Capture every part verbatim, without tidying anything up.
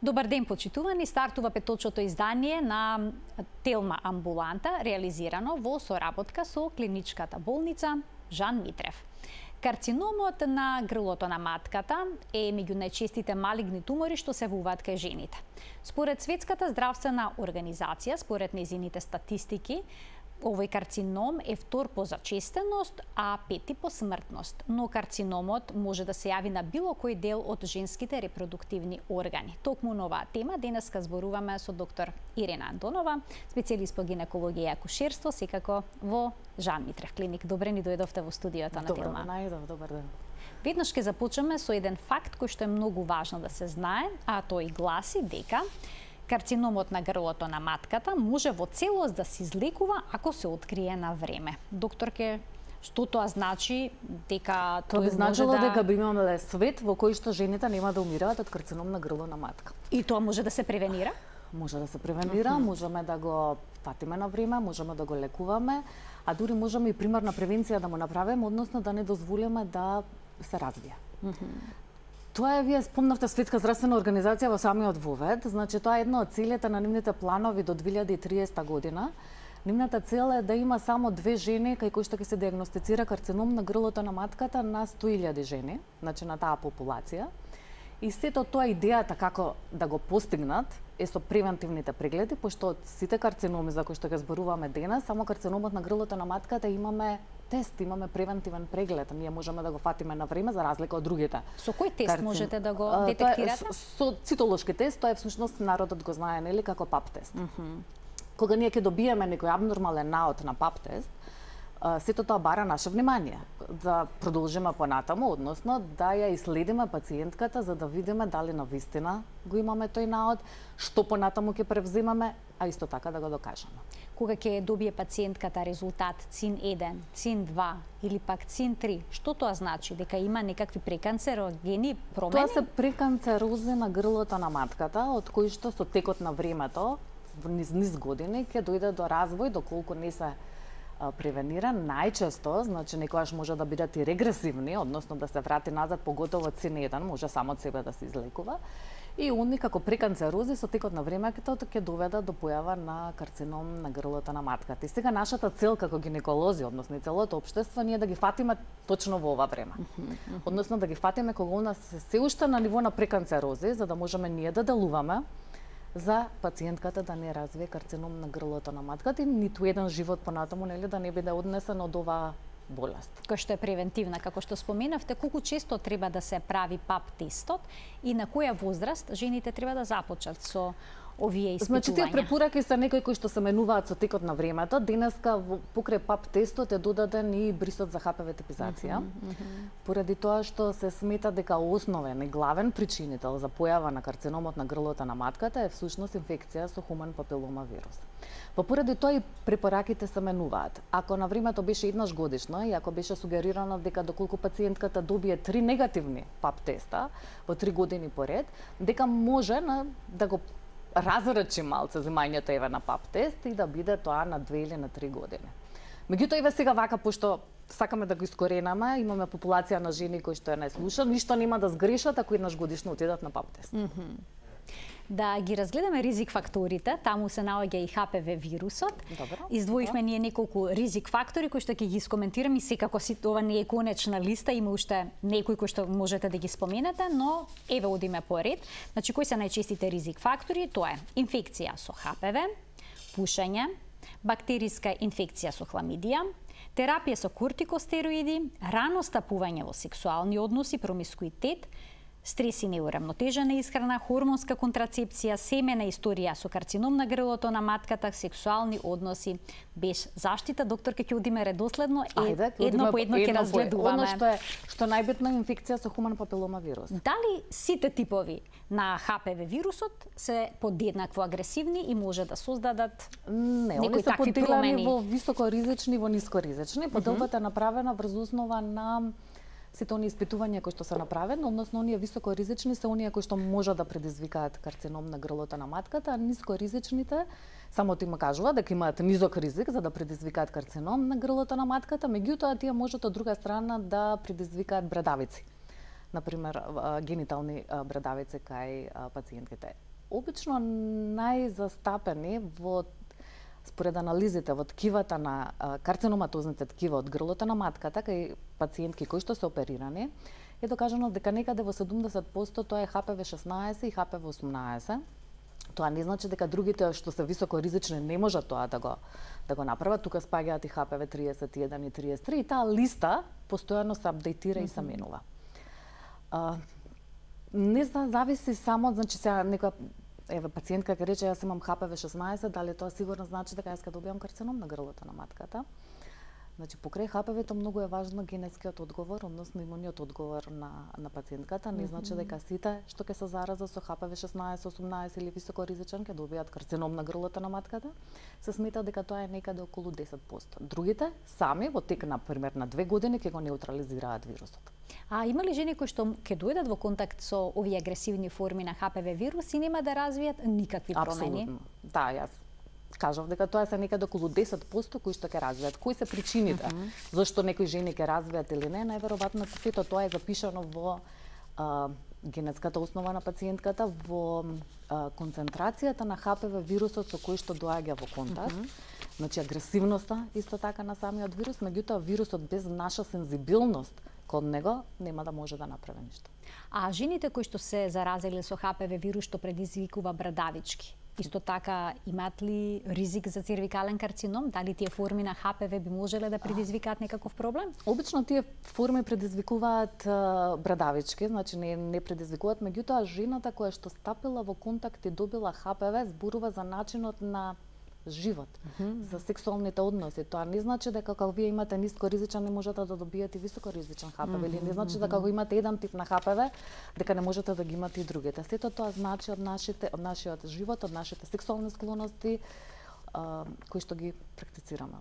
Добар ден, почитувани. Стартува петочното издание на Телма амбуланта, реализирано во соработка со клиничката болница Жан Митрев. Карциномот на грлото на матката е меѓу најчестите малигни тумори што се јавуваат кај жените. Според Светската здравствена организација, според нејзините статистики, овој карцином е втор по зачестеност, а пети по смртност. Но карциномот може да се јави на било кој дел од женските репродуктивни органи. Токму на оваа тема денеска зборуваме со доктор Ирена Андонова, специјалист по гинекологија и акушерство, секако во Жан Митрев клиник. Добре ни дојдовте во студиото на Телма. Добро, најдов, добар ден. Веднаш ќе започнеме со еден факт кој што е многу важно да се знае, а тој гласи дека карциномот на грлото на матката може во целост да се излекува ако се открие на време. Докторке, што тоа значи? Дека Тоа би значило да... дека би имале свет во кој што жените нема да умираат од карцином на грло на матка. И тоа може да се превенира? Може да се превенира, uh -huh. можеме да го фатиме на време, можеме да го лекуваме, а дури можеме и примарна превенција да му направиме, односно да не дозволиме да се развие. Uh -huh. Тоа е, вие спомнавте Светска здравствена организација во самиот вовед, значи тоа е една од целите на нивните планови до две илјади и триесета година. Нивната цел е да има само две жени кај кои што ќе се диагностицира карцином на грлото на матката на сто илјади жени, значи на таа популација. И сето тоа идејата како да го постигнат е со превентивните прегледи, пошто од сите карциноми за кои што ќе зборуваме денес, само карциномот на грлото на матката имаме тест, имаме превентивен преглед. Ние можеме да го фатиме на време за разлика од другите. Со кој тест карцин... можете да го детектирате? Со, со цитолошки тест, тоа е всушност народот го знае, нели, како пап тест. Uh -huh. Кога ние ќе добиеме некој абнормален наод на пап тест, сето тоа бара наше внимание, да продолжиме понатаму, односно да ја иследиме пациентката за да видиме дали навистина го имаме тој наод, што понатаму ќе превземаме, а исто така да го докажеме. Кога ќе добие пациентката резултат цин еден, цин два или пак цин три, што тоа значи? Дека има некакви преканцерогени промени? Тоа се преканцерози на грлото на матката, од кои што со текот на времето, низ низ години, ќе дојде до развој, доколку не се превенира. Најчесто, значи некогаш може да бидат и регресивни, односно да се врати назад, поготово цин еден, може само од себе да се излекува. И они како преканцерози со текот на времето ќе доведат до појава на карцином на грлото на матката. И сега нашата цел како гинеколози, односно и целото општество, ние да ги фатиме точно во ова време. Односно да ги фатиме кога у нас се се уште на ниво на преканцерози, за да можеме ние да делуваме за пациентката да не развие карцином на грлото на матката и ниту еден живот понатаму, нели, да не биде однесен од оваа болест. Кој што е превентивна, како што споменавте, колку често треба да се прави пап тестот и на која возраст жените треба да започнат со овие испитувања? Значи, тие препораки се некои кои што се менуваат со текот на времето. Денеска покрај пап тестот е додаден и брисот за ха пе ви типизација. Mm -hmm, mm -hmm. Поради тоа што се смета дека основен и главен причинител за појава на карциномот на грлото на матката е всушност инфекција со хуман папилома вирус. Па поради тоа и препораките се менуваат. Ако на времето беше еднаш годишно и ако беше сугерирано дека доколку пациентката добие три негативни пап теста во три години поред, дека може на, да го разрачи малце земањето еве на пап тест и да биде тоа на две или на три години. Меѓутоа еве сега вака, пошто сакаме да го искоренаме, имаме популација на жени кои што ја не слушаат, ништо нема да сгрешат ако еднаш годишно отидат на пап тест. Mm -hmm. Да ги разгледаме ризик факторите, таму се наоѓа и ха пе ви вирусот. Добро. Издвоивме ние неколку ризик фактори кои што ќе ги искоментираме и секако си ова не е конечна листа, има уште некои кои што можете да ги споменете, но еве одиме по ред. Значи кои се најчестите ризик фактори? Тоа е инфекција со ха пе ви, пушење, бактериска инфекција со хламидија, терапија со кортикостероиди, рано стапување во сексуални односи, промискуитет, стрес и неурамнотежена исхрана, хормонска контрацепција, семена историја со карцином на грлото на матката, сексуални односи без заштита. Докторка, ќе одиме редоследно, е, Ајде, едно по едно ќе разгледуваме. Оно што е што најбитно е инфекција со хуман папилома вирус. Дали сите типови на ха пе ви вирусот се подеднакво агресивни и може да создадат Не, они се поделени во високоризични и во нискоризични. Поделбата е направена врз основа на сите оние испитувања кои што се направени, односно оние високоризични се оние кои што може да предизвикаат карцином на грлото на матката, а нискоризичните самото им кажува дека имаат низок ризик за да предизвикаат карцином на грлото на матката, меѓутоа тие можат од друга страна да предизвикаат брадавици. Например, генитални брадавици кај пациентките. обично најзастапени во според анализите во ткивата на карциноматозните ткива од грлото на матката кај пациентки кои што се оперирани, е докажано дека некаде во седумдесет проценти тоа е Х П В шеснаесет и Х П В осумнаесет. Тоа не значи дека другите што се високо ризични не можат тоа да го да го направат. Тука спаѓаат и Х П В триесет и еден и триесет и три и таа листа постојано се апдейтира mm -hmm. и се менува. А, не зависи само, значи сега некоја еве пациентка ќе рече јас имам Х П В шеснаесет, дали тоа сигурно значи дека јас ќе добијам карцином на грлото на матката? Значи, покрај Х П В-то многу е важно генетскиот одговор, односно имуниот одговор на, на пациентката. Не значи дека сите што ќе се заразат со Х П В шеснаесет, осумнаесет или високо ризичен ќе добијат карцином на грлото на матката. Се смета дека тоа е некаде околу десет проценти. Другите сами во тек на пример на две години ќе го неутрализираат вирусот. А има ли жени кои што ќе дојдат во контакт со овие агресивни форми на Х П В вирус и нема да развијат никакви промени? Апсолутно. Да, јас кажав дека тоа се некаде околу десет проценти кои што ќе развијат. Кои се причините? Uh -huh. Зашто некои жени ќе развијат или не? Најверојатно сето тоа е запишано во а, генетската основа на пациентката, во а, концентрацијата на Х П В вирусот со кој што доаѓа во контакт. Uh -huh. Значи агресивноста исто така на самиот вирус, меѓутоа вирусот без наша сензибилност кон него нема да може да направи ништо. А жените кои што се заразиле со Х П В вирус што предизвикува брадавички, исто така имаат ли ризик за цервикален карцином? Дали тие форми на Х П В би можеле да предизвикаат некаков проблем? Обично тие форми предизвикуваат брадавички, значи не не предизвикуваат, меѓутоа жената која што стапила во контакт и добила Х П В зборува за начинот на живот, mm -hmm. за сексуалните односи. Тоа не значи дека кога вие имате ниско ризичен не можете да добиете високо ризичен Х П В, mm -hmm. или не значи дека кога имате еден тип на Х П В дека не можете да ги имате и другите. Сето тоа значи од нашите од нашиот живот, од нашите сексуални склоности а, кои што ги практицираме.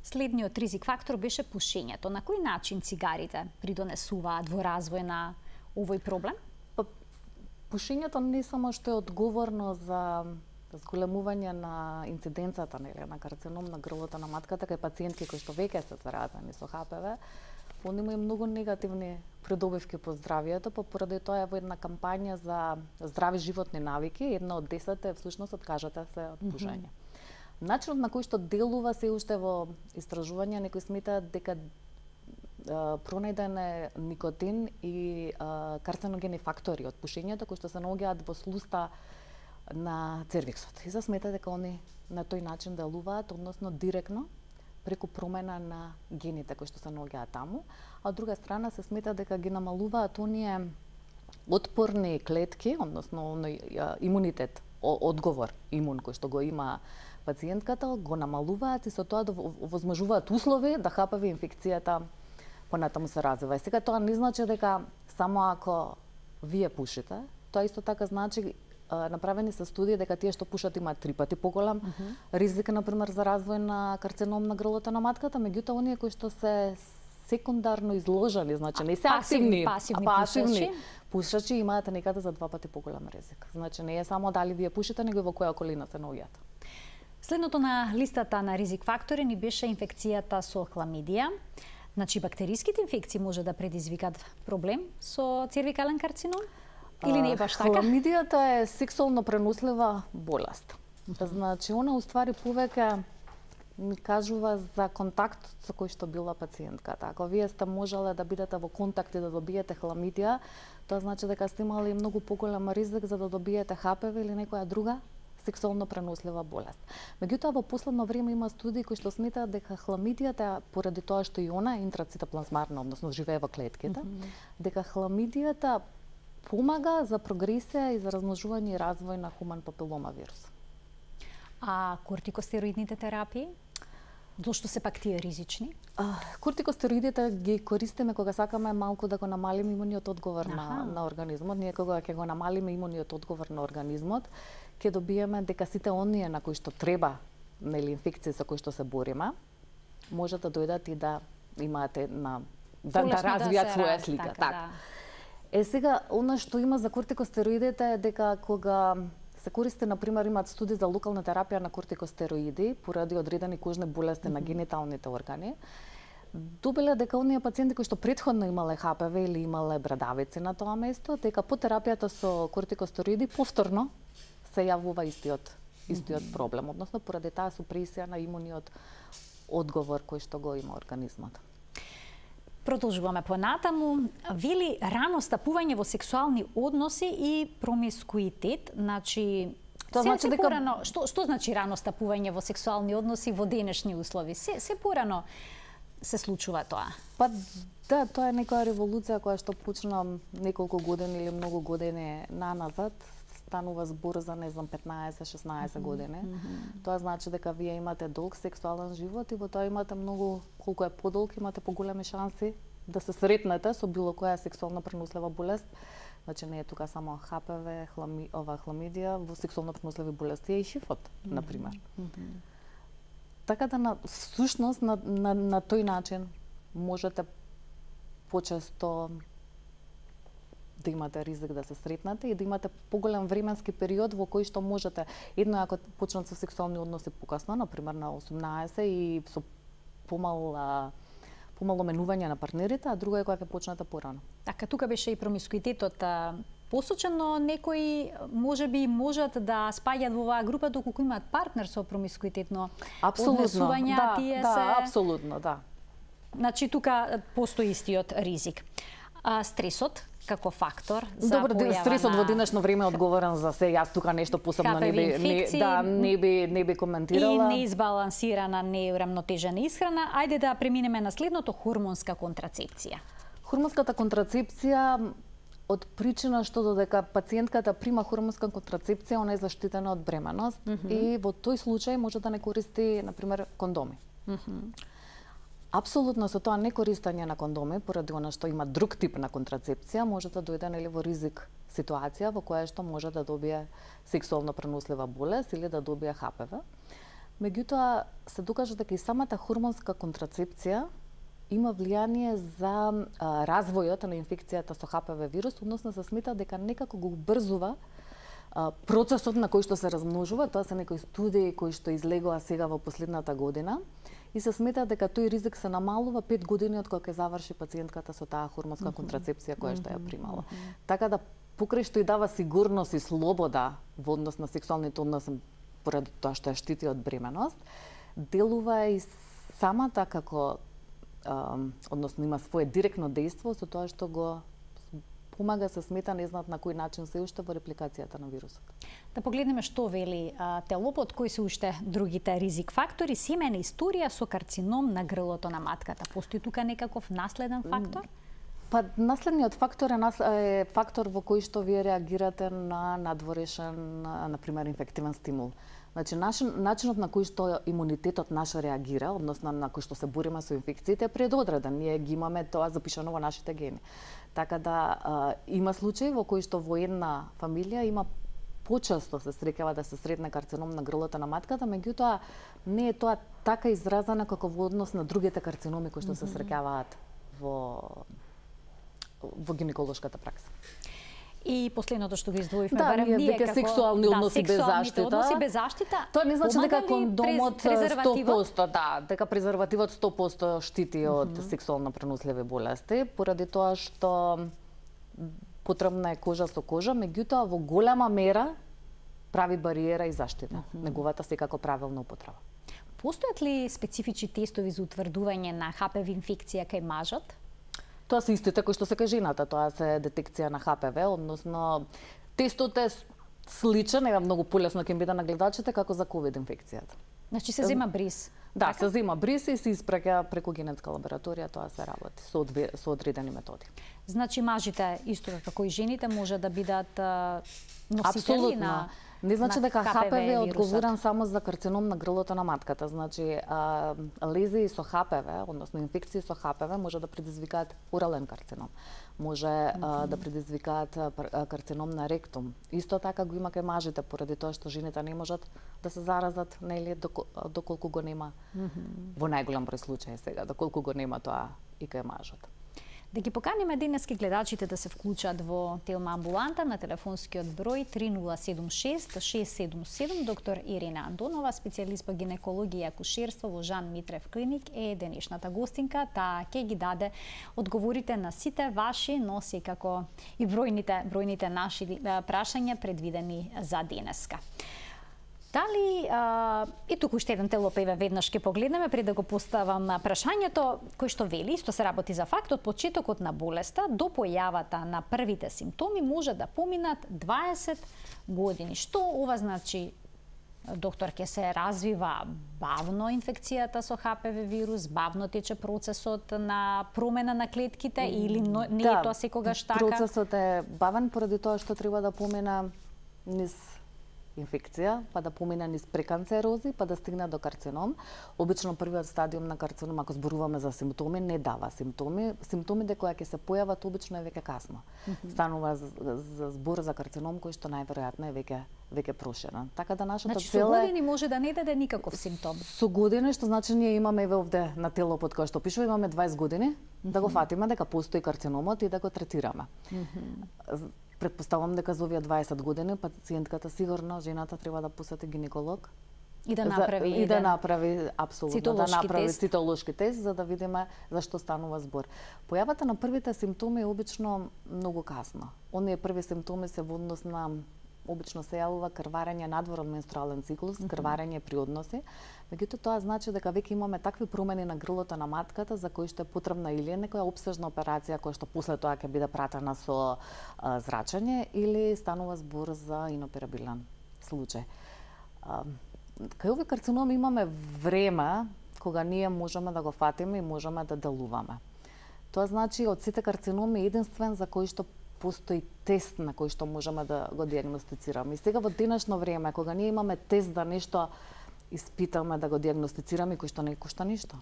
Следниот ризик фактор беше пушењето. На кој начин цигарите придонесуваат во развој на овој проблем? Па, пушењето не само што е одговорно за зголемување на инциденцата нели на карцином на грлото на матката кај пациентки кои што веќе се заразени со Х П В, он има и многу негативни придобивки по здравието, па поради тоа е во една кампања за здрави животни навики, една од десет е всушност откажете се од пушење. Mm -hmm. Начинот на кој што делува се уште во истражувања, некои сметаат дека пронајден е никотин и а, карциногени фактори од пушењето кои што се наоѓаат во слуста на цервиксот. И се смета дека они на тој начин делуваат, односно директно преку промена на гените кои што се наоѓаат таму, а од друга страна се смета дека ги намалуваат оние отпорни клетки, односно оној имунитет, одговор имун кој што го има пациентката, го намалуваат и со тоа да овозможуваат услови да Х П В инфекцијата понатаму се развива. И сега тоа не значи дека само ако вие пушите, тоа исто така значи направени се студии дека тие што пушат имаат три пати поголем uh -huh. ризик на пример за развој на карцином на грлото на матката, меѓутоа оние кои што се секундарно изложени, значи не се активни, пасивни, а пасивни пушачи имаат некаде за два пати поголем ризик. Значи не е само дали вие пушите, него во која околина се наоѓате. Следното на листата на ризик фактори ни беше инфекцијата со хламидија. Значи бактериските инфекции може да предизвикат проблем со цервикален карцином? Или не е баш така? Хламидијата е сексуално пренослива болест. Значи, она уствари повеќе ми кажува за контакт со кој што била пациентката. Ако вие сте можеле да бидете во контакт и да добиете хламидија, тоа значи дека сте имали многу поголем ризик за да добиете Х П В или некоја друга сексуално пренослива болест. Меѓутоа, во последно време има студии кои што сметаат дека хламидијата, поради тоа што и она е интрацитоплазмарна, односно живее во клетките, mm -hmm. дека хламидијата помага за прогресија и за размножување и развој на хуман папилома вирус. А кортикостероидните терапии? Зошто се пак тие ризични? А, кортикостероидите ги користиме кога сакаме малку да го намалиме имуниот одговор на, на организмот. Ние кога ќе го намалиме имуниот одговор на организмот, ќе добиеме дека сите оние на кои што треба, нели инфекции со кои што се бориме, може да дојдат и да имаат една да, да развијат да своја слика. Така, так. Да. Е сега, она што има за кортикостероидите е дека кога се користи, например, имаат студии за локална терапија на кортикостероиди поради одредени кожни болести mm -hmm. на гениталните органи, добиле дека оние пациенти кои што претходно имале Х П В или имале брадавици на тоа место, дека по терапијата со кортикостероиди повторно се јавува истиот истиот проблем, односно поради таа супресија на имуниот одговор кој што го има организмот. Продолжуваме понатаму. Вели рано стапување во сексуални односи и промискуитет, значи Тоа се, значи се дека... порано, што, што значи рано стапување во сексуални односи во денешни услови? Се, се порано се случува тоа? Па да, тоа е некоја револуција која што почна неколку години или многу години наназад. Станува збор за, не знам, петнаесет шеснаесет години. Mm -hmm. Тоа значи дека вие имате долг сексуален живот и во тоа имате многу, колку е подолг, имате поголеми шанси да се сретнете со било која сексуално пренослива болест. Значи не е тука само Х П В, хлами, ова хламидија, во сексуално преносливи болести е и шифот, mm -hmm. на пример. Mm -hmm. Така да на всушност на, на, на тој начин можете почесто да имате ризик да се сретнете и да имате поголем временски период во кој што можете, едно ако почнат со сексуални односи покасно, на пример на осумнаесет и со помал помало менување на партнерите, а друго е кога ќе почнете порано. Така, тука беше и промискуитетот посочен, но некои можеби можат да спаѓаат во оваа група доколку имаат партнер со промискуитетно однесување, да, тие да, се... апсолутно, да. Значи, тука постои истиот ризик. А, стресот како фактор за Добро, појава стресот на... во денешно време е одговорен за се. Јас тука нешто посебно не би не, да не би не би коментирала. И неизбалансирана, неурамнотежена исхрана. Ајде да преминеме на следното, хормонска контрацепција. Хормонската контрацепција од причина што додека пациентката прима хормонска контрацепција, она е заштитена од бременост mm -hmm. и во тој случај може да не користи, на пример, кондоми. Mm -hmm. Апсолутно со тоа некористење на кондоми, поради она што има друг тип на контрацепција, може да дојде нели во ризик ситуација во која што може да добие сексуално пренослива болест или да добие Х П В. Меѓутоа се докажа дека и самата хормонска контрацепција има влијание за а, развојот на инфекцијата со Х П В вирус, односно се смета дека некако го убрзува а, процесот на кој што се размножува. Тоа се некои студии кои што излегоа сега во последната година. И се смета дека тој ризик се намалува пет години од кога ќе заврши пациентката со таа хормонска mm -hmm. контрацепција која што ја примала. Mm -hmm. Така да покрај што и дава сигурност и слобода во однос на сексуалните односи поради тоа што ја штити од бременост, делува и самата како а, односно има свое директно дејство со тоа што го помага, се смета, не знаат на кој начин се уште во репликацијата на вирусот. Да погледнеме што вели а, телопот, кои се уште другите ризик фактори. Семејна историја со карцином на грлото на матката. Постои тука некаков наследен фактор? Па наследниот фактор е, нас, е фактор во кој што вие реагирате на надворешен, на пример, инфективен стимул. Значи, начин, начинот на кој што имунитетот наш реагира, односно на кој што се бориме со инфекциите, е предодреден. Ние ги имаме тоа запишано во нашите гени. Така да а, има случаи во кои што во една фамилија има почесто се среќава да се сретне карцином на грлото на матката, меѓутоа не е тоа така изразено како во однос на другите карциноми кои што се среќаваат во во гинеколошката пракса. И последното што го издвоивме, да, барем ние дека како сексуални односи да, без заштита. Односи без заштита. Тоа не значи дека кондомот сто посто, да, дека презервативот сто посто штити од mm -hmm. сексуално преносливи болести, поради тоа што потребна е кожа со кожа, меѓутоа во голема мера прави бариера и заштита. Mm -hmm. Неговата секако правилна употреба. Постојат ли специфични тестови за утврдување на Х П В инфекција кај мажот? Тоа се истите кои што се кај жената, тоа се детекција на Х П В, односно тестот е сличен, е многу полесно ќе биде на гледачите како за ковид инфекцијата. Значи се зема бриз. Да, така? Се зема бриз и се испраќа преку генетска лабораторија, тоа се работи со, одве, со одредени методи. Значи мажите исто како и жените може да бидат носители Абсолютно. на Не значи дека Х П В е одговорен само за карцином на грлото на матката. Значи, а, лезии со Х П В, односно инфекции со Х П В, може да предизвикаат орален карцином. Може mm -hmm. а, да предизвикаат а, карцином на ректум. Исто така го има кај мажите, поради тоа што жените не можат да се заразат, нели, доколку го нема, mm -hmm. во најголем број случаи сега, доколку го нема тоа и кај мажот. Да ги поканиме денески гледачите да се вклучат во Телма амбуланта на телефонскиот број три нула седум шест шест седум седум. Доктор Ирина Андонова, специјалист по гинекологија и акушерство во Жан Митрев клиник, е денешната гостинка. Таа ќе ги даде одговорите на сите ваши, но секако и бројните, бројните наши прашања предвидени за денеска. Дали, а, и туку уште еден телопеве веднаш ќе погледнеме пред да го поставам прашањето, кој што вели, исто се работи за факт, од почетокот на болеста до појавата на првите симптоми може да поминат дваесет години. Што ова значи, доктор, ќе се развива бавно инфекцијата со Х П В вирус, бавно тече процесот на промена на клетките или не да, е тоа секогаш така? Процесот е бавен поради тоа што треба да помина низ инфекција, па да помине низ преканцерози, па да стигне до карцином. Обично првиот стадиум на карцином, ако зборуваме за симптоми, не дава симптоми. Симптомите кои ќе се појават обично е веќе касно. Mm -hmm. Станува за, за збор за карцином кој што најверојатно е веќе веќе проширен. Така да нашата значи, цел е... со години може да не даде никаков симптом. Со години, што значи ние имаме еве овде на телопот кој што пишува, имаме дваесет години, mm -hmm. да го фатиме дека постои карциномот и да го третираме. Mm -hmm. Предпоставувам дека за овие дваесет години пациентката сигурно, жената треба да посети гинеколог и да направи за, и да направи апсолутно да направи тест. цитолошки тест за да видиме зашто станува збор. Појавата на првите симптоми е обично многу касно. Оние први симптоми се во однос на обично се јавува крварење надвор од менструален циклус, mm -hmm. крварење при односи. Меѓутоа тоа значи дека веќе имаме такви промени на грлото на матката за кои што е потребна или некоја опсежна операција која што после тоа ќе биде пратена со а, зрачење или станува збор за иноперабилен случај. А, кај овој карцином имаме време кога ние можеме да го фатиме и можеме да делуваме. Тоа значи од сите карциноми единствен за кој што постои тест на кој што можеме да го диагностицираме. И сега во денешно време, кога ние имаме тест да нешто испитаме, да го диагностицираме, кој што не кошта ништо.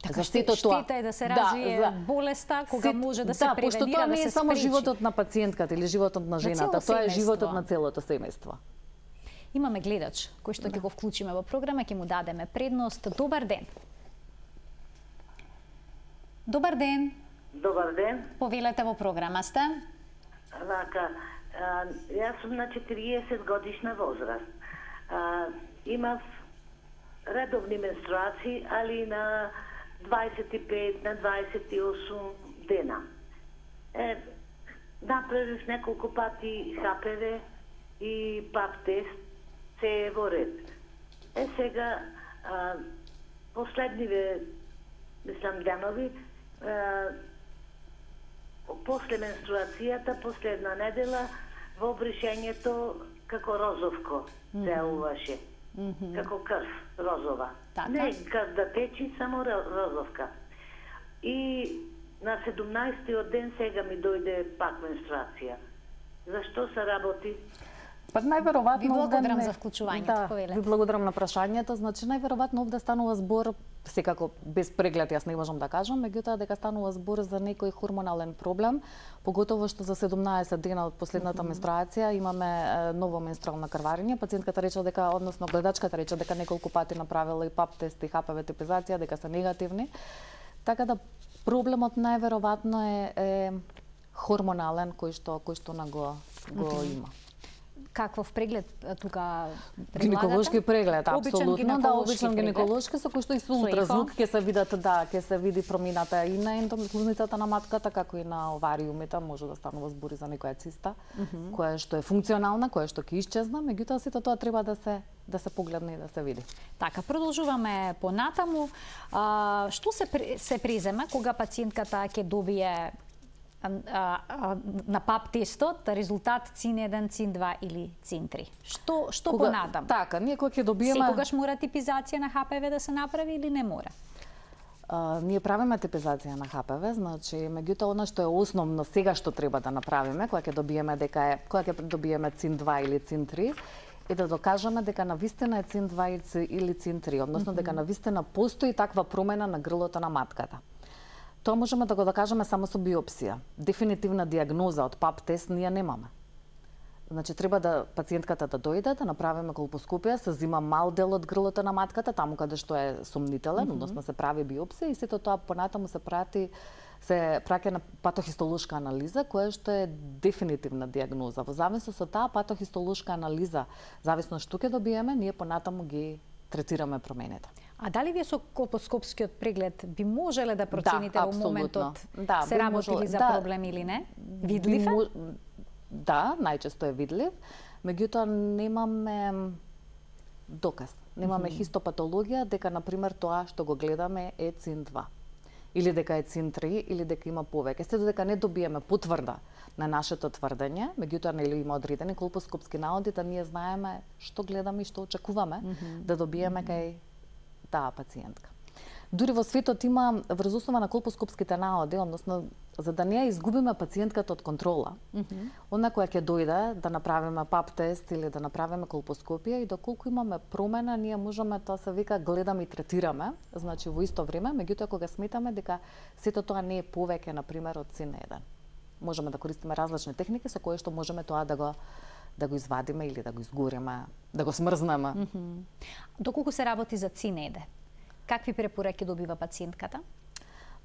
Така штета тоа е да се развие да, за... болеста, кога Сит... може да се да, превенира, да се спречи. Да, пошто тоа не е само животот на пациентката или животот на жената, тоа е животот на целото семејство. Имаме гледач кој што ќе да. го вклучиме во програма, ќе му дадеме предност. Добар ден. Добар ден. Добар ден. Повелете во програма сте. Вака, а, јас сум на четириесет годишна возраст. А, имав редовни менструации, али на дваесет и пет, на дваесет и осум дена. Е, направив неколку пати Х П В и пап тест, се е во ред. Е сега, а, последниве, мислам, денови, а, после менструацијата, последна недела, во бришењето како розовко делуваше. Mm -hmm. Како крв розова. Така? Не крв да течи, само розовка. И на седумнаесеттиот ден сега ми дојде пак менструација. Зашто се работи? Па најверојатно ви благодарам не... за вклучувањето, да, повелете. Ви благодарам на прашањето. Значи најверојатно овде станува збор, секако без преглед јас не можам да кажам, меѓутоа дека станува збор за некој хормонален проблем, поготово што за седумнаесет дена од последната mm -hmm. менструација имаме е, ново менструално крварење. Пациентката рече дека, односно гледачката рече дека неколку пати направила и пап тест и Х П В типизација, дека се негативни. Така да проблемот најверојатно е, е хормонален кој што кој што на го го mm -hmm. има. Каков преглед тука предлагате? Гинеколошки преглед, апсолутно, да, обичен гинеколошки со кој што и со ултразвук ќе се видат, да, ќе се види промината и на ендометриозницата на матката, како и на овариумите, може да станува збори за некоја циста, mm -hmm. која што е функционална, која што ќе исчезна, меѓутоа сето тоа треба да се да се погледне и да се види. Така, продолжуваме понатаму. А, што се се презема кога пациентката ќе добие А, а, на пап тестот резултат цин еден, цин два или цин три. Што што кога, понатаму? Така, ние кога ќе добиеме секогаш мора типизација на Х П В да се направи или не мора? А, ние правиме типизација на Х П В, значи меѓутоа она што е основно сега што треба да направиме кога ќе добиеме дека е кога ќе добиеме цин два или цин три е да докажеме дека навистина е цин два или цин три, односно mm -hmm. дека навистина постои таква промена на грлото на матката. Тоа можеме да го докажеме само со биопсија. Дефинитивна диагноза од пап тест ние немаме. Значи треба да пациентката да дојде, да направиме колпоскопија, се зима мал дел од грлото на матката, таму каде што е сомнителен, mm -hmm. односно се прави биопсија и сето тоа понатаму се прати се праќа на патохистолошка анализа, која што е дефинитивна диагноза. Во зависност од таа патохистолошка анализа, зависно што ќе добиеме, ние понатаму ги третираме промените. А дали вие со колпоскопскиот преглед би можеле да процените да, во моментот да, се работи ли за да, проблем или не? Видлив е? Да, најчесто е видлив, меѓутоа немаме доказ. Немаме mm -hmm. хистопатологија дека, например, тоа што го гледаме е цин два. Или дека е цин три, или дека има повеќе. Се додека не добиеме потврда на нашето тврдење, меѓутоа нели има одредени колпоскопски наводи, да ние знаеме што гледаме и што очекуваме mm -hmm. да добиеме кај таа пациентка. Дури во светот има врз основа на колпоскопските наводи, односно за да не ја изгубиме пациентката од контрола, mm -hmm. она која ќе дојде да направиме пап тест или да направиме колпоскопија и доколку имаме промена, ние можеме, тоа се вика, гледаме и третираме, значи во исто време, меѓутоа кога сметаме дека сето тоа не е повеќе, например, од цин еден. Можеме да користиме различни техники со кои што можеме тоа да го да го извадиме или да го изгориме, да го смрзнеме. Mm -hmm. Доколку се работи за цин еден, какви препораки добива пациентката?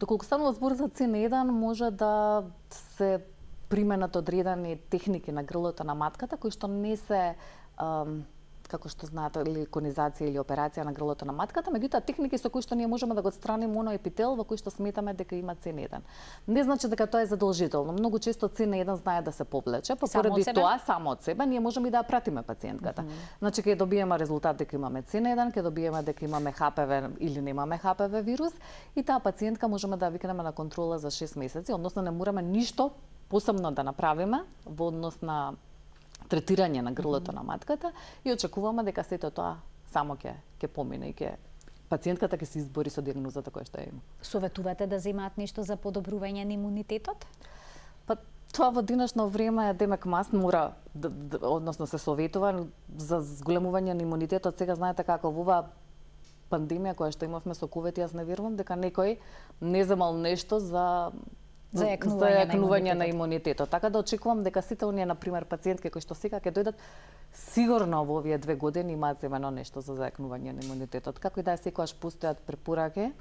Доколку станува збор за цин еден, може да се применат одредени техники на грлото на матката, кои што не се, ам, како што знаете, или конизација или операција на грлото на матката, меѓутоа техники со кои што ние можеме да го отстраниме оној епител во кој што сметаме дека има цин еден. Не значи дека тоа е задолжително. Многу често цин еден знае да се повлече, па поради тоа само од себе ние можеме и да ја пратиме пациентката. Mm -hmm. Значи ќе добиеме резултат дека имаме цин еден, ќе добиеме дека имаме Х П В или немаме Х П В вирус и таа пациентка можеме да викнеме на контрола за шест месеци, односно не мораме ништо посебно да направиме во однос на третирање на грлото mm -hmm. на матката и очекуваме дека сето тоа само ќе ќе помине и ќе пациентката ќе се избори со диагнозата која што ја има. Советувате да земаат нешто за подобрување на имунитетот? Па тоа во денешно време демек маст мора да, да, односно се советува за зголемување на имунитетот. Сега знаете како во оваа пандемија која што имавме со ковид, јас не верувам дека некој не земал нешто за за јакнување, за јакнување на имунитетот. Така да очекувам дека сите оние, например, пациентки кои што сега ќе дојдат, сигурно во овие две години имаат земено нешто за зајакнување на имунитетот. Како и да е, секогаш постојат препораки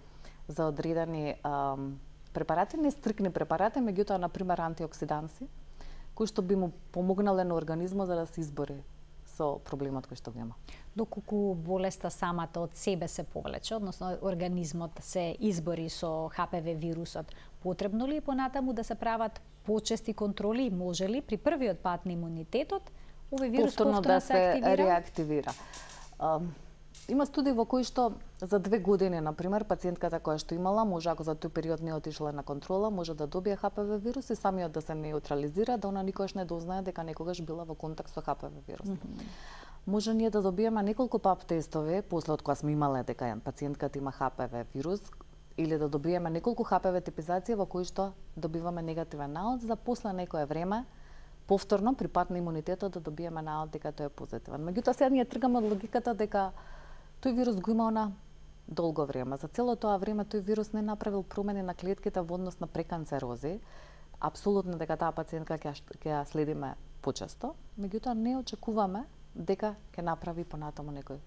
за одредени ам, препарати, не стрикни препарати, меѓутоа, например, антиоксиданси, кои што би му помогнале на организмот за да се избори со проблемот кој што го има. Доколку болеста самата од себе се повлече, односно организмот се избори со Х П В вирусот, потребно ли е понатаму да се прават почести контроли? Може ли при првиот пат на имунитетот овој вирус повторно, повторно да се активира? реактивира? Uh, има студии во кои што за две години, например, пациентката која што имала, може ако за тој период не отишла на контрола, може да добие Х П В вирус и самиот да се неутрализира, да она никогаш не дознае дека некогаш била во контакт со Х П В вирус. Mm -hmm. Може ние да добиеме неколку пап тестови, после од кога сме имале дека пациентката има Х П В вирус, или да добиеме неколку Х П В типизации во кои што добиваме негативен наод, за после некое време повторно при пат на имунитетот да добиеме наод дека тој е позитивен. Меѓутоа сега ние тргаме од логиката дека тој вирус го има на долго време. За цело тоа време тој вирус не направил промени на клетките во однос на преканцерози. Апсолутно дека таа пациентка ќе ќе ја следиме почесто, меѓутоа не очекуваме дека ќе направи понатаму некој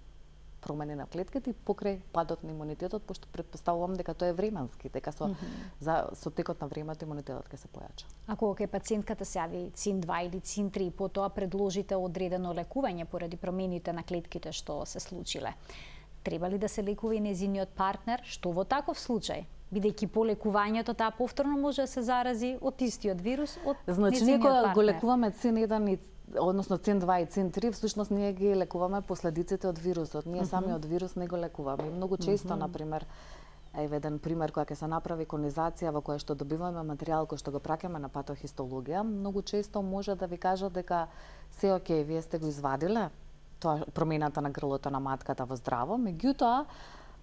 промени на клетките и покрај падот на имунитетот, пошто претпоставувам дека тоа е временски, дека со mm -hmm. за со текот на времето имунитетот ќе се појача. Ако кај пациентката се јави цин два или цин три, потоа предложите одредено лекување поради промените на клетките што се случиле, треба ли да се лекува и нејзиниот партнер? Што во таков случај? Бидејќи по лекувањето таа повторно може да се зарази од истиот вирус од значи, ние кога го лекуваме цин еден и односно цин два и цин три, всушност ние ги лекуваме последиците од вирусот. Ние mm -hmm. самиот вирус не го лекуваме. И многу често, mm -hmm. например, еве еден пример кога ќе се направи конизација во која што добиваме материјал кој што го праќаме на патохистологија, многу често може да ви кажат дека се окей, вие сте го извадиле тоа промената на грлото на матката во здраво, меѓутоа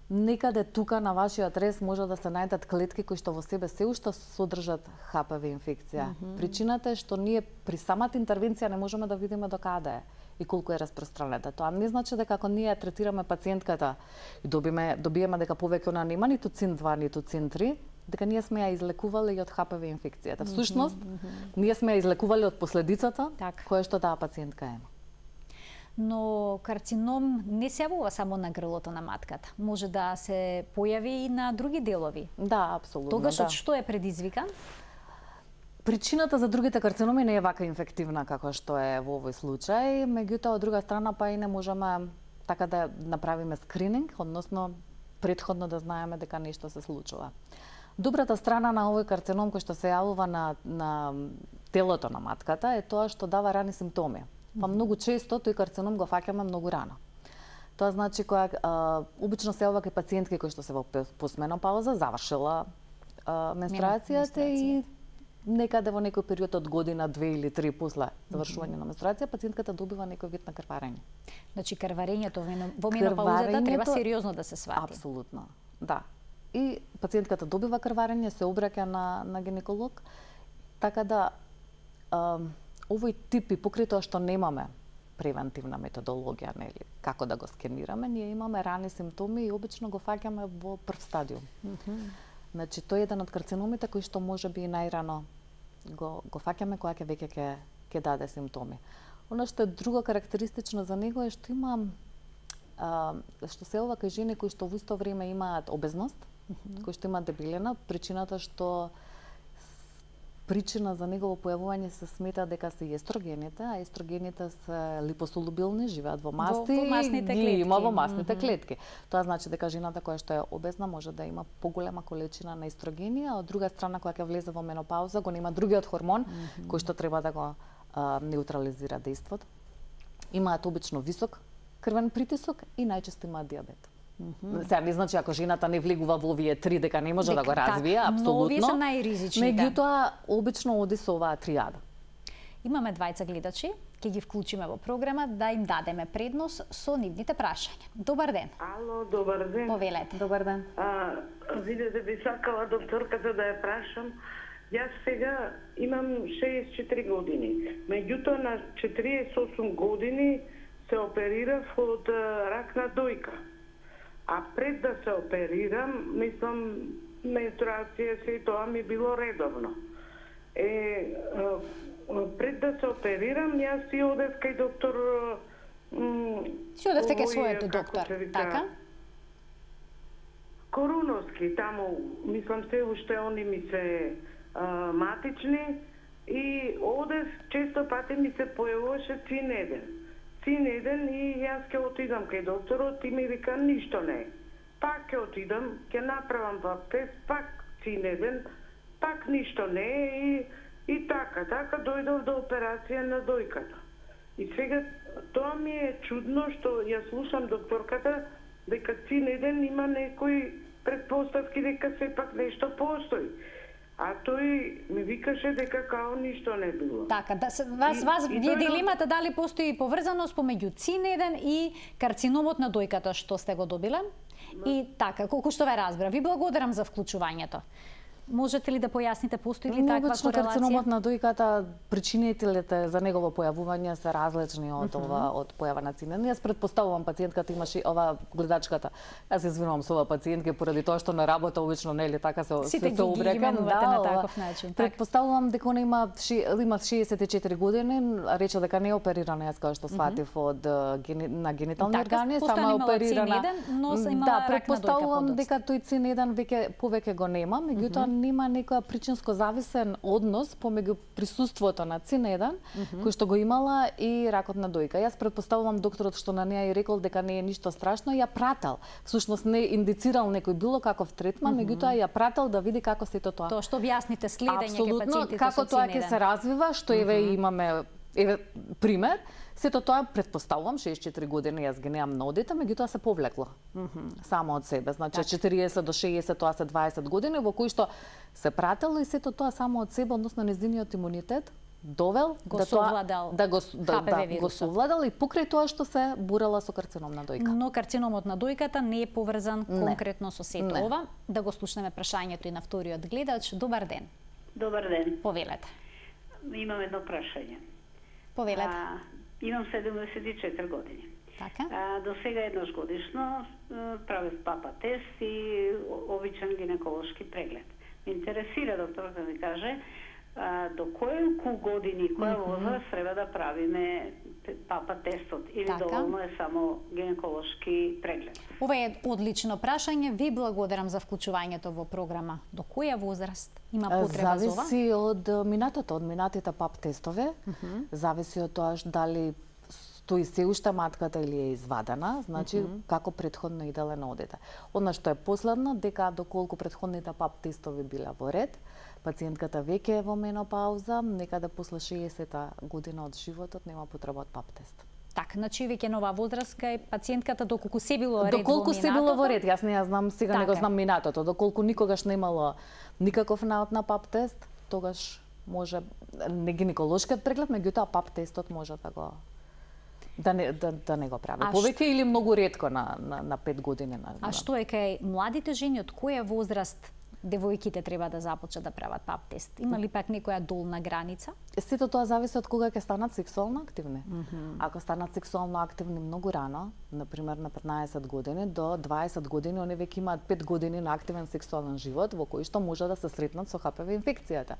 некаде тука на вашиот рез може да се најдат клетки кои што во себе се уште содржат Х П В инфекција. Mm -hmm. Причината е што ние при самата интервенција не можеме да видиме до каде е и колку е распространета. Тоа не значи дека ако ние третираме пациентката и добиме добиеме дека повеќе она нема ниту цин два ниту цин три, дека ние сме ја излекувале и од Х П В инфекцијата. Всушност, mm -hmm. ние сме ја излекувале од последицата так. која што таа пациентка има. Но карцином не се јавува само на грлото на матката. Може да се појави и на други делови. Да, апсолутно. Тогаш да. од што е предизвикан? Причината за другите карциноми не е вака инфективна како што е во овој случај, меѓутоа од друга страна па и не можеме така да направиме скрининг, односно претходно да знаеме дека нешто се случува. Добрата страна на овој карцином кој што се јавува на, на телото на матката е тоа што дава рани симптоми. Па многу често тој карцином го фаќаме многу рано. Тоа значи која а, обично се јавува кај пациентки кои што се во постменопауза, завршила а, менструацијата и некаде во некој период од година, две или три после завршување на менструација, пациентката добива некој вид на крварење. Значи крварењето во менопаузата треба сериозно да се свати. Апсолутно, да. И пациентката добива крварење, се обраќа на, на гинеколог, така да а, овој тип и покрај тоа што немаме превентивна методологија, нели, како да го скенираме, ние имаме рани симптоми и обично го фаќаме во прв стадиум. Mm -hmm. Значи, тој е еден од карциномите кои што може би најрано го, го фаќаме кога ќе веќе ќе ќе даде симптоми. Оно што е друго карактеристично за него е што има а, што се ова кај жени кои што во исто време имаат обезност, mm -hmm. кои што имаат дебелина, причината што причина за негово појавување се смета дека се и естрогените, а естрогените се липосолубилни, живеат во масти, во, во масните ги клетки. има во масните mm -hmm. клетки. Тоа значи дека жената која што е обезна може да има поголема количина на естрогени, а од друга страна кога ќе влезе во менопауза го нема другиот хормон mm -hmm. кој што треба да го а, неутрализира дејството. Имаат обично висок крвен притисок и најчесто имаат дијабет. Mm -hmm. Сега не значи ако жената не влегува во овие три дека не може дека, да го развие, так, апсолутно. Но овие се најризични. Меѓутоа, обично оди со оваа тријада. Имаме двајца гледачи, ќе ги вклучиме во програма да им дадеме предност со нивните прашања. Добар ден. Ало, добар ден. Повелете. Добар ден. А, видете, би сакала докторката да ја прашам. Јас сега имам шеесет и четири години. Меѓутоа на четириесет и осум години се оперирав од рак на дојка. А пред да се оперирам, мислам, менструација се и тоа ми било редовно. Е, пред да се оперирам, јас си одев кај доктор... Си одевте кај својот доктор, така? Коруновски, таму, мислам се уште они ми се а, матични и одев, често пати ми се појавуваше цинеден. Цинеден и јас ќе отидам кај докторот и ми вика ништо не е. Пак ќе отидам, ќе направам пак тест, пак цинеден, пак ништо не е и, и така, така дојдов до операција на дојката. И сега тоа ми е чудно што ја слушам докторката дека цинеден има некои предпоставки дека сепак нешто постои. А тој ми викаше дека као ништо не било. Така, да, вас, и, вас и е тој... дилемата дали постои поврзаност помеѓу цинеден и карциномот на дојката што сте го добиле. И така, колку што ве разбра. Ви благодарам за вклучувањето. Можете ли да појасните постои ли таква корелација? Карциномот на дојката, причинителите за негово појавување се различни од ова, uh -huh. од појава на цинеден. Јас претпоставувам пациентката имаше ова гледачката. Јас извинувам со ова пациентки поради тоа што на работа обично нели така се Сите се, се обрекам да, на таков начин. Претпоставувам дека она има има шеесет и четири години, рече дека не е оперирана, јас како што сватив uh -huh. од гени, на генитални така, органи, само е оперирана. Цинеден, но се имала да, рак на дојка. претпоставувам дека тој цинеден веќе повеќе го нема, меѓутоа uh -huh. нема некоја причинско зависен однос помеѓу присуството на цинеден, mm -hmm. кој што го имала и ракот на дојка. Јас претпоставувам докторот што на неа и рекол дека не е ништо страшно, ја прател. Всушност не индицирал некој било каков третман, mm -hmm. меѓутоа ја прател да види како сето тоа. Тоа што објасните следење кај пациентите како тоа ќе се развива, што еве mm -hmm. имаме еве пример. Сето тоа претпоставувам шеесет и четири години јас ги немам на одите, меѓутоа се повлекло. Mm -hmm. Само од себе. Значи четириесет до шеесет тоа се дваесет години во кои што се пратело и сето тоа само од себе, односно нејзиниот имунитет довел го да тоа да го да, да, го совладал и покрај тоа што се бурала со карцином на дојка. Но карциномот на дојката не е поврзан не. конкретно со сето не. ова. Да го слушнеме прашањето и на вториот гледач. Добар ден. Добар ден. Повелете. Имам едно прашање. Повелете. А, имам седумдесет и четири години. Така? А, до сега еднаш годишно правев папа тест и обичен гинеколошки преглед. Ме интересира доктор да ми каже а, до колку години, која возраст треба да правиме папа тестот или Така. доволно е само гинеколошки преглед? Ова е одлично прашање. Ви благодарам за вклучувањето во програма. До која возраст има потреба за ова? Зависи од минатото, од минатите пап тестове. Uh -huh. Зависи од тоа дали стои се уште матката или е извадена, значи uh -huh. како претходно иделе на одите. Она што е последно, дека доколку претходните пап тестови биле во ред, пациентката веќе е во менопауза, некаде после шеесета година од животот нема потреба од пап тест. Така, значи веќе нова возраст кај пациентката доколку се било ред доколку во се минатото. било во ред, јас не ја знам сега, така. не го знам минатото, доколку никогаш не имало никаков наод на пап тест, тогаш може не гинеколошкиот преглед, меѓутоа пап тестот може да го да не да, да не го прави. А Повеќе или многу ретко на на на пет години на. А што е кај младите жени, од која возраст девојките треба да започнат да прават пап тест? Има ли пак некоја долна граница? Сето тоа зависи од кога ќе станат сексуално активни. Mm -hmm. Ако станат сексуално активни многу рано, например на петнаесет години до дваесет години, они веќе имаат пет години на активен сексуален живот во кој што може да се сретнат со ха пе ви инфекцијата.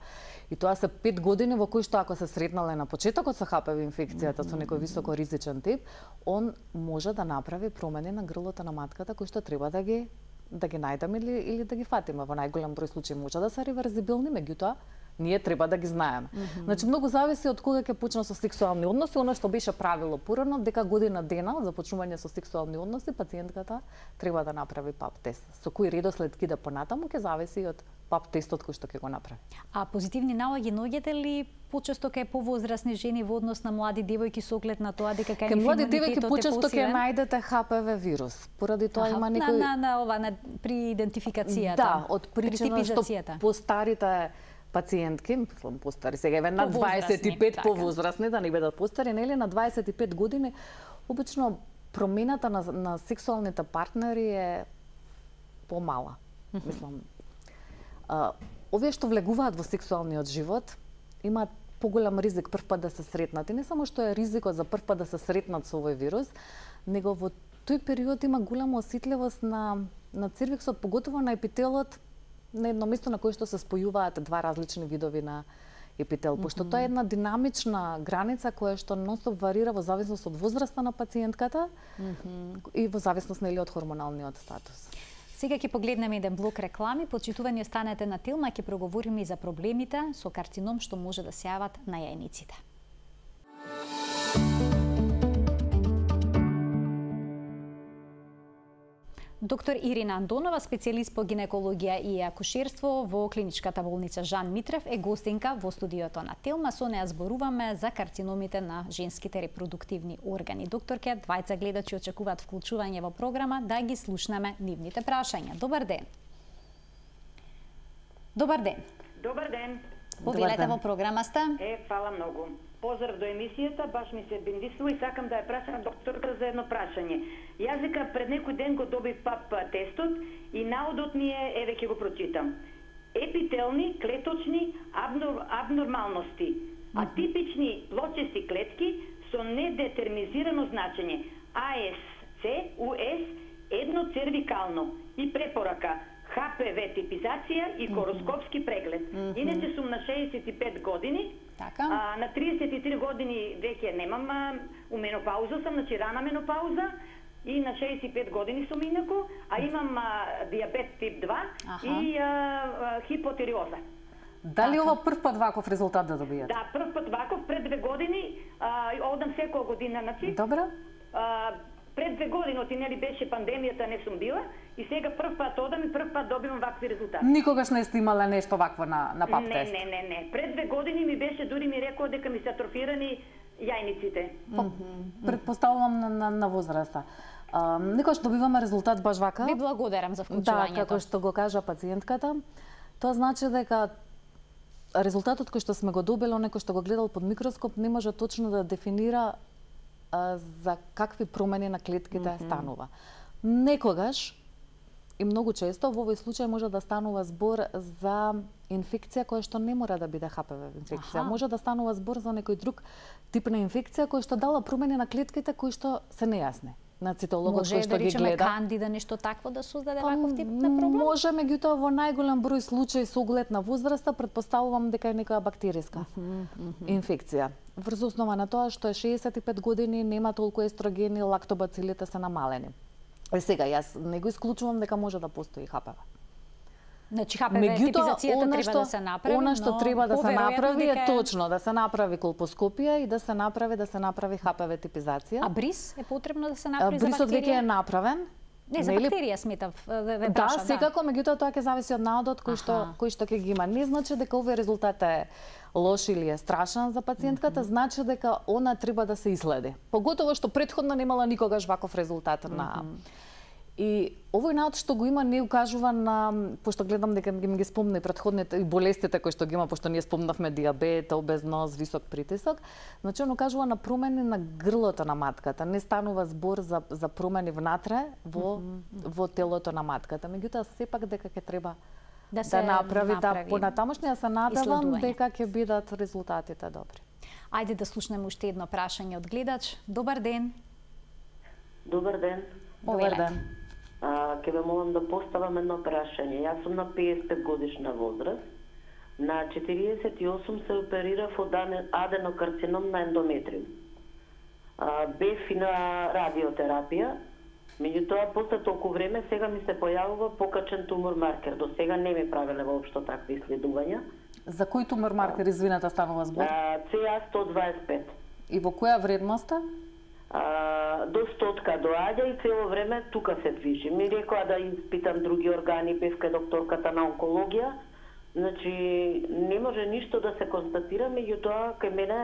И тоа се пет години во кои што ако се сретнале на почетокот со ха пе ви инфекцијата mm -hmm. со некој високо ризичен тип, он може да направи промени на грлото на матката кои што треба да ги да ги најдеме или, или да ги фатиме. Во најголем број случаи може да се реверзибилни, меѓутоа ние треба да ги знаеме. Mm -hmm. Значи многу зависи од кога ќе почне со сексуални односи, она што беше правило порано, дека година дена од започнување со сексуални односи пациентката треба да направи пап тест. Со кој редослед ќе да понатаму ќе зависи од пап тестот кој што ќе го направи. А позитивни наоѓи наоѓате ли почесто кај повозрасни жени во однос на млади девојки со оглед на тоа дека кај нив млади девојки почесто ќе најдете ха пе ви вирус. Поради тоа Аха, има некој на, на, на ова на при идентификацијата. Да, од причина што постарите пациентки, мислам постари, сега еве на дваесет и пет повозрасни, да не бидат постари, нели на дваесет и пет години, обично промената на, на сексуалните партнери е помала. Mm -hmm. Мислам, а, овие што влегуваат во сексуалниот живот имаат поголем ризик прв пат да се сретнат. И не само што е ризикот за прв пат да се сретнат со овој вирус, него во тој период има голема осетливост на на цервиксот, поготово на епителот, на едно место на кое што се спојуваат два различни видови на епител, пошто mm -hmm. тоа е една динамична граница која што нонстоп варира во зависност од возраста на пациентката mm -hmm. и во зависност нели од хормоналниот статус. Сега ќе погледнеме еден блок реклами, почитувани останете на Телма, ќе проговориме и за проблемите со карцином што може да се јават на јајниците. Доктор Ирина Андонова, специјалист по гинекологија и акушерство во клиничката болница Жан Митрев, е гостинка во студиото на Телма. Со неа зборуваме за карциномите на женските репродуктивни органи. Докторке, двајца гледачи очекуваат вклучување во програма, да ги слушнеме нивните прашања. Добар ден. Добар ден. Добар ден. Повелете во програма сте. Е, фала многу. Поздрав до емисијата, баш ми се бендисува и сакам да ја прашам докторка за едно прашање. Јас дека пред некој ден го добив пап тестот и наодот ми е, еве ќе го прочитам. Епителни, клеточни абнор, абнормалности, атипични плочести клетки со недетерминизирано значење, А С С, У С, едно цервикално и препорака Х П В типизација и хороскопски преглед. Mm -hmm. Иначе сум на шеесет и пет години, така. А, на триесет и три години веќе немам а, у менопауза сам, значи рана менопауза, и на шеесет и пет години сум инаку, а имам а, диабет тип два Аха. и а, а, хипотериоза. Дали ова прв пат ваков резултат да добијате? Да, прв пат ваков, пред две години, а, одам секоја година, значи. Добро. А, пред две години, оти нели беше пандемијата, не сум била, и сега прв пат одам и прв пат добивам вакви резултати. Никогаш не сте имала нешто вакво на, на пап не, тест? Не, не, не. Пред две години ми беше, дури ми рекоа дека ми се атрофирани јајниците. Mm -hmm. Предпоставувам на, на, на возраста. А, никогаш добиваме резултат баш вака? Ви благодарам за вклучувањето. Да, како што го кажа пациентката, тоа значи дека резултатот кој што сме го добили, некој што го гледал под микроскоп, не може точно да дефинира а, за какви промени на клетките mm -hmm. станува. Некогаш и многу често во овој случај може да станува збор за инфекција која што не мора да биде Х П В инфекција. Аха. Може да станува збор за некој друг тип на инфекција која што дала промени на клетките кои што се нејасни. на цитологот може кој што да ги речеме гледа. Кандида нешто такво да создаде ваков тип на проблем? Може, меѓутоа во најголем број случаи со оглед на возраста претпоставувам дека е некоја бактериска инфекција. Врз основа на тоа што е шеесет и пет години, нема толку естрогени, лактобацилите се намалени. Е сега јас не го исклучувам дека може да постои ха пе ве. Значи ха пе ве типизацијата треба да се направи, она што но треба да се направи е дека... точно да се направи колпоскопија и да се направи да се направи ха пе ве типизација. А бриз е потребно да се направи за Брисот бактерија? веќе е направен. Не, за бактерија сметав, ве, ве Да, прашам, секако, меѓутоа тоа ќе зависи од наодот кој што кој што ќе ги има. Не значи дека овој резултат е лош или е страшен за пациентката, mm -hmm. значи дека она треба да се иследи. Поготово што претходно немала никогаш ваков резултат mm -hmm. на И овој наод што го има не укажува на, пошто гледам дека ги ги спомна и претходните и болестите кои што ги има, пошто ние спомнавме дијабет, обезност, висок притисок, значи он укажува на промени на грлото на матката. Не станува збор за за промени внатре во mm -hmm. во телото на матката. Меѓутоа сепак дека ќе треба да, се да направи, направи да понатамошни, се надевам дека ќе бидат резултатите добри. Ајде да слушнеме уште едно прашање од гледач. Добар ден. Добар ден. Добар ден. А, ке ве молам да поставам едно прашање. Јас сум на пеесет и пет годишна возраст. На четириесет и осум се оперирав од аденокарцином на ендометриум. А, бев и на радиотерапија. Меѓутоа, после толку време, сега ми се појавува покачен тумор маркер. До сега не ми правеле воопшто такви исследувања. За кој тумор маркер, извинете, станува збор? Це а сто дваесет и пет. И во која вредност е? А, до стотка доаѓа и цело време тука се движи. Ми рекоа да испитам други органи, бевка докторката на онкологија. Значи, не може ништо да се констатира, меѓутоа кај мене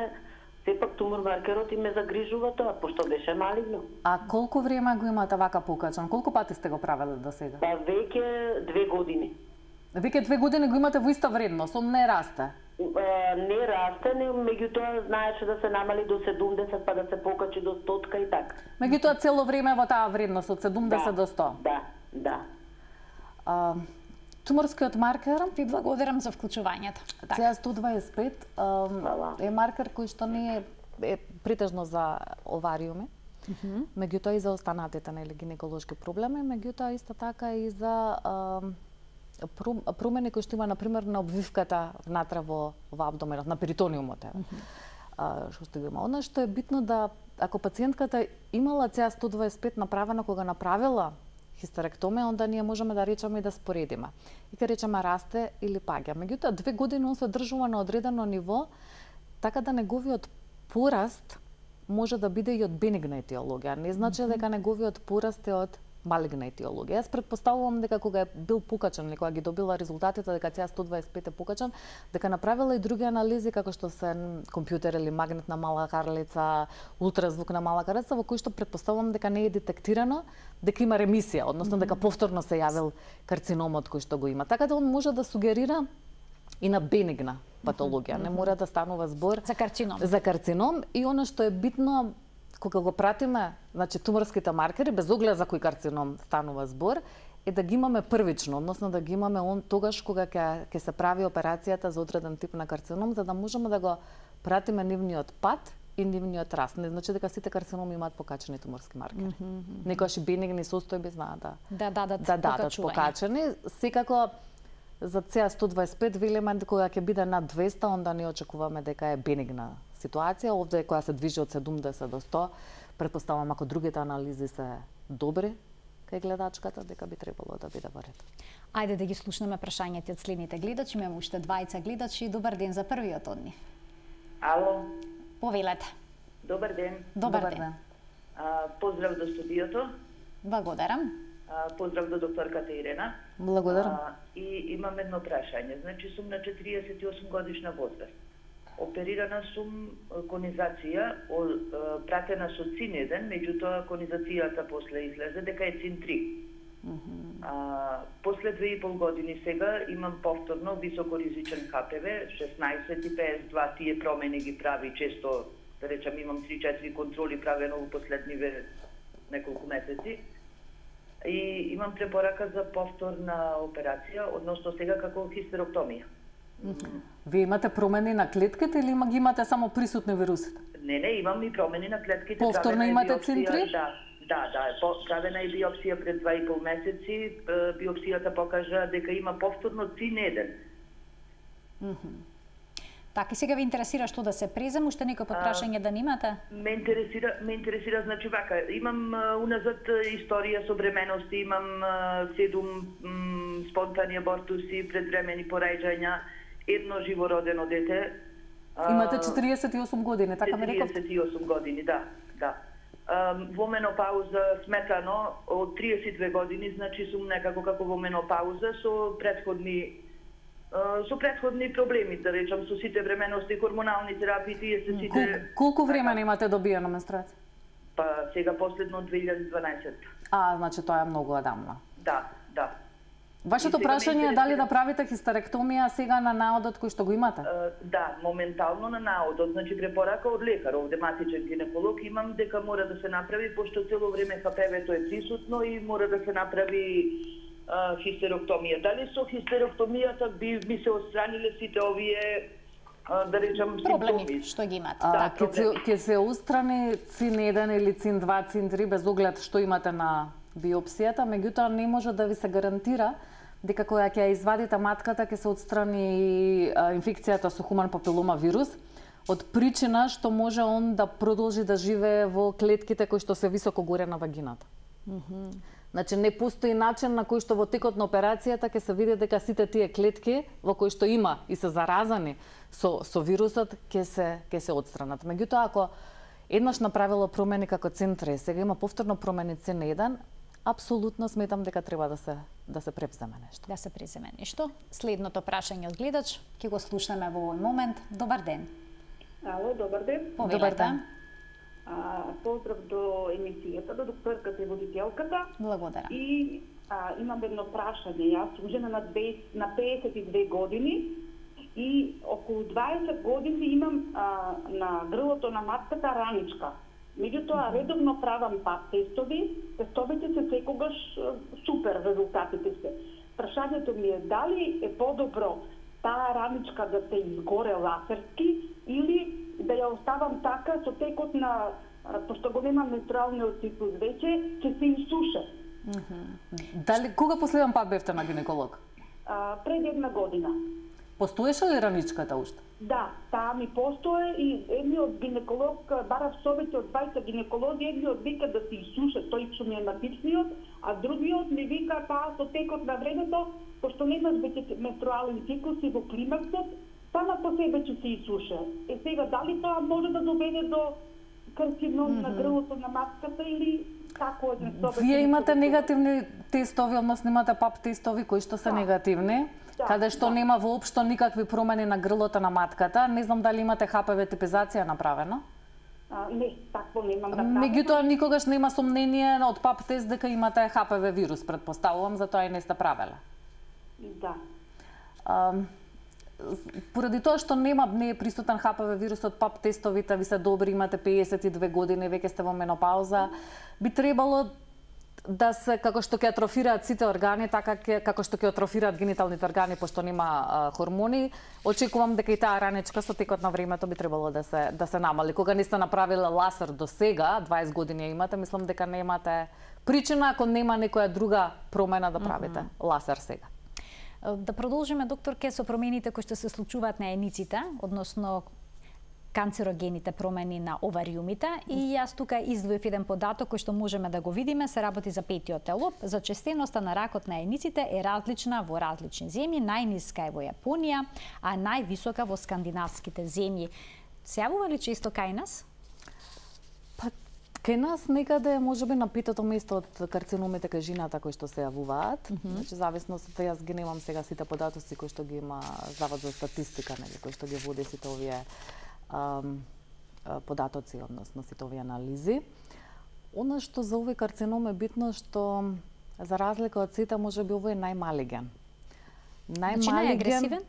сепак тумор маркерот и ме загрижува тоа, пошто беше малигно. А колку време го имате вака покачан? Колку пати сте го правеле до сега? Па веќе две години. Веќе две години го имате во иста вредност, он не расте? А, не расте, не, меѓутоа знаеше да се намали до седумдесет, па да се покачи до стотка и така. Меѓутоа цело време во таа вредност од седумдесет да, до сто? Да, да. А, туморскиот маркер? Ви благодарам за вклучувањето. Це а сто дваесет и пет а, е маркер кој што не е, е притежно за овариуми, mm -hmm. меѓутоа и за останатите нели гинеколошки проблеми, меѓутоа исто така и за а, промени кои што има, например, на обвивката внатре во, во абдоменот, на перитониумот. Mm -hmm. а, што што има. Она што е битно да, ако пациентката имала Це а сто дваесет и пет направена кога направила хистеректомија, онда ние можеме да речеме и да споредиме. И ке речеме расте или паѓа. Меѓутоа, две години он се одржува на одредено ниво, така да неговиот пораст може да биде и од бенигна етиологија. Не значи mm -hmm. дека неговиот пораст е од малигна етиологија. Јас претпоставувам дека кога е бил покачан или кога ги добила резултатите дека Це а сто дваесет и пет е покачан, дека направила и други анализи како што се компјутер или магнетна мала карлица, ултразвук на мала карлица, во кои што претпоставувам дека не е детектирано дека има ремисија, односно дека повторно се јавил карциномот кој што го има. Така да он може да сугерира и на бенигна патологија. Не мора да станува збор за карцином. За карцином и она што е битно кога го пратиме, значи туморските маркери, без оглед за кој карцином станува збор, е да ги имаме првично, односно да ги имаме он тогаш кога ќе ќе се прави операцијата за одреден тип на карцином, за да можеме да го пратиме нивниот пат и нивниот раст. Не значи дека сите карциноми имаат покачени туморски маркери. Mm -hmm. Некогаш и бенигни состојби знаат да да дадат да дадат покачени. Секако за Це а сто дваесет и пет велиме кога ќе биде над двеста, онда не очекуваме дека е бенигна ситуација. Овде која се движи од седумдесет до сто, претпоставам ако другите анализи се добри кај гледачката, дека би требало да биде во ред. Ајде да ги слушнеме прашањата од следните гледачи. Имаме уште двајца гледачи. Добар ден за првиот од нив. Ало. Повелете. Добар ден. Добар, Добар ден. ден. А, поздрав до студиото. Благодарам. А, поздрав до докторката Ирена. Благодарам. А, и имам едно прашање. Значи сум на четириесет и осум годишна возраст. Оперирана сум конизација, пратена со цин еден, меѓутоа конизацијата после излезе дека е цин три. Mm -hmm. а, после две и пол години сега имам повторно високоризичен ха пе ве, шеснаесет и петдесет и два, тие промени ги прави често, да речам имам три-четири контроли правено во последниве неколку месеци. И имам препорака за повторна операција, односно сега како хистероктомија. Mm -hmm. Вие имате промени на клетките или има ги имате само присутни вирусите? Не, не, имам и промени на клетките. Повторно имате цин три? Да, Да, да, правена е биопсија пред два и пол месеци. Биопсијата покажа дека има повторно цин еден. Mm-hmm. Така, сега ви интересира што да се презем, уште некој подпрашање да немате? Ме интересира, ме интересира, значи вака, имам а, уназад историја со бремености, имам а, седум м, спонтани абортуси, предвремени порајџања, едно живородено дете. А, Имате четириесет и осум години, така ме реков? четириесет и осум години, да, да. А, во менопауза сметано од триесет и две години, значи сум некако како во менопауза со предходни со предходни проблеми, да речам, со сите времености, хормонални терапии, тие се сите... Кол, колку време немате добиена менструација? Па сега последно две илјади и дванаесет. А, значи тоа е многу одамна. Да, да. Вашето прашање е дали да правите хистеректомија сега на наодот кој што го имате? Uh, да, моментално на наодот, значи препорака од лекар, овде матичен гинеколог имам дека мора да се направи, пошто цело време ха пе ве-то е присутно и мора да се направи Uh, хистероктомија. Дали со хистероктомијата би ми се отстраниле сите овие uh, да речам проблеми симптоми што ги имате? А, Да, ќе се ќе се отстрани цин еден или цин два, цин три без оглед што имате на биопсијата, меѓутоа не може да ви се гарантира дека кога ќе ја извадите матката ќе се отстрани а, инфекцијата со хуман папилома вирус од причина што може он да продолжи да живее во клетките кои што се високо горе на вагината. Mm-hmm. Значи не постои начин на кој што во текот на операцијата ќе се види дека сите тие клетки во кои што има и се заразани со со вирусот ќе се ќе се отстранат. Меѓутоа ако еднаш направило промени како цин три, сега има повторно промени цин еден, апсолутно сметам дека треба да се да се превземе нешто. Да се преземе нешто. Следното прашање од гледач ќе го слушнеме во овој момент. Добар ден. Ало, добар ден. Добар ден. А, поздрав до емисијата, до докторката и водителката. Благодарам. И а, имам едно прашање. Јас сум жена на, дваесет, на пеесет и две години и околу дваесет години имам а, на грлото на матката раничка. Меѓутоа редовно правам пап тестови, тестовите се секогаш супер, резултатите се. Прашањето ми е дали е подобро таа раничка да се изгоре лазерски или да ја оставам така со текот на, пошто го немам менструалниот циклус веќе, ќе се изсуше. Mm-hmm. Дали кога последен пат бевте на гинеколог? А, пред една година. Постоеше ли раничката уште? Да, таа ми постои и едниот гинеколог, барав совете од двајца гинеколози, едниот вика да се изсуше, тој што ми е матичниот, а другиот ми вика таа со текот на времето, пошто немаш веќе менструален циклус и во климаксот, сама по себе ќе се изсуше. Е сега, дали тоа може да доведе до карцином mm-hmm. на грлото на матката или како еден совет? Вие имате негативни тестови, односно имате пап тестови кои што се да. негативни, да, каде што да. нема воопшто никакви промени на грлото на матката. Не знам дали имате ха пе ве типизација направена? А, не, такво немам направено. Меѓутоа никогаш нема сомнение од пап тест дека имате ха пе ве вирус, претпоставувам, затоа и не сте правеле. Да. А, поради тоа што нема не е присутен ха пе ве вирусот, пап тестовите ви се добри, имате пеесет и две години, веќе сте во менопауза, би требало да се, како што ќе атрофираат сите органи, така ке, како што ќе атрофираат гениталните органи, пошто нема а, хормони, очекувам дека и таа раничка со текот на времето би требало да се да се намали. Кога не сте направиле лазер до сега, дваесет години имате, мислам дека немате причина ако нема некоја друга промена да правите mm-hmm. лазер сега. Да продолжиме, докторке, со промените кои што се случуваат на ениците, односно канцерогените промени на овариумите, и јас тука издвоив еден податок кој што можеме да го видиме, се работи за петиот телоп. Зачестеноста на ракот на ениците е различна во различни земји, најниска е во Јапонија, а највисока во скандинавските земји. Се јавува ли често кај нас? Па, кај нас некаде можеби на петото место од карциномите кај жената кои што се јавуваат. Mm-hmm. Значи зависно со тоа, јас ги немам сега сите податоци кои што ги има Завод за статистика, нели, кои што ги води сите овие Um, податоци, односно сите овие анализи. Она што за овој карцином е битно што за разлика од сите можеби овој е најмалиген. Најмалиген. Значи најагресивен?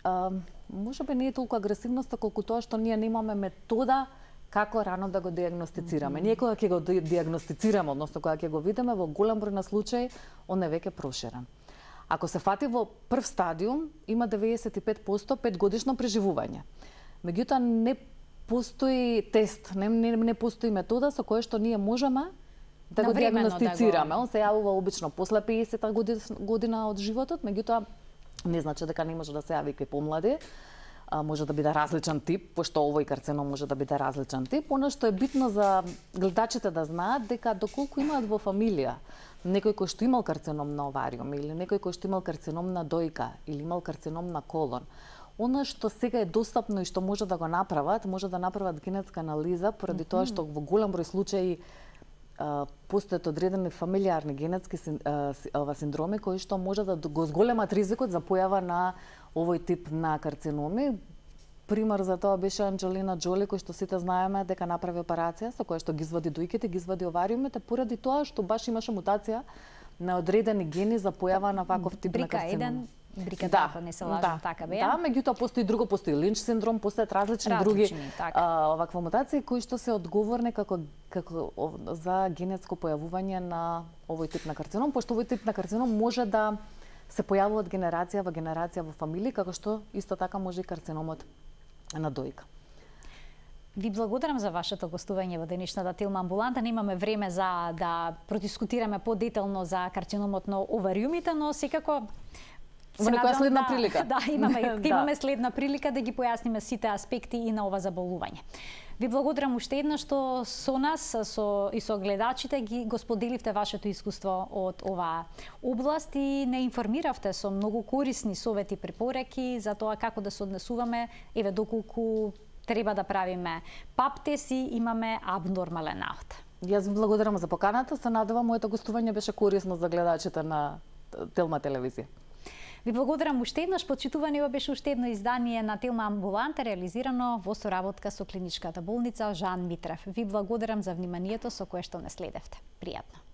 Uh, можеби не е толку агресивноста колку тоа што ние немаме метода како рано да го диагностицираме. Mm-hmm. Ние кога ќе го диагностицираме, односно кога ќе го видиме во голем број на случаи, он е веќе проширен. Ако се фати во прв стадиум, има деветдесет и пет проценти петгодишно преживување. Меѓутоа не постои тест, не, не, не постои метода со која што ние можеме да го диагностицираме. Да го... Он се јавува обично после пеесета година од животот, меѓутоа не значи дека не може да се јави кај помлади. А, може да биде различен тип, пошто овој карцином може да биде различен тип. Оно што е битно за гледачите да знаат дека доколку имаат во фамилија некој кој што имал карцином на овариум или некој кој што имал карцином на дојка или имал карцином на колон, оно што сега е достапно и што може да го направат, може да направат генетска анализа, поради mm -hmm. тоа што во голем број случаи постојат одредени фамилиарни генетски ова синдроми кои што може да го зголемат ризикот за појава на овој тип на карциноми. Пример за тоа беше Анџелина Џоли, кој што сите знаеме дека направи операција со која што ги извади дојките, ги извади овариумите, поради тоа што баш имаше мутација на одредени гени за појава на ваков тип на карцином. Брика да, ако не се лажам, да, така беа. Да, меѓутоа постои друго, постои Линч синдром, постојат различни, различни други а, оваква мутации кои што се одговорни како како за генетско појавување на овој тип на карцином, пошто овој тип на карцином може да се појавува од генерација во генерација во фамилии, како што исто така може и карциномот на дојка. Ви благодарам за вашето гостување во денешната Телма амбуланта. Немаме време за да продискутираме подетелно за карциномот на овариумите, но секако во некоја следна да, прилика. Да, имаме, да. имаме следна прилика да ги појасниме сите аспекти и на ова заболување. Ви благодарам уште еднаш што со нас со, и со гледачите ги го споделивте вашето искуство од оваа област и не информиравте со многу корисни совети и препораки за тоа како да се однесуваме, еве доколку треба да правиме пап тест и имаме абнормален аут. Јас ви благодарам за поканата, се надевам моето гостување беше корисно за гледачите на Телма телевизија. Ви благодарам уште еднаш, почитувани, ова беше уште едно издание на Телма амбуланта, реализирано во соработка со клиничката болница Жан Митрев. Ви благодарам за вниманието со кое што не следевте. Пријатно.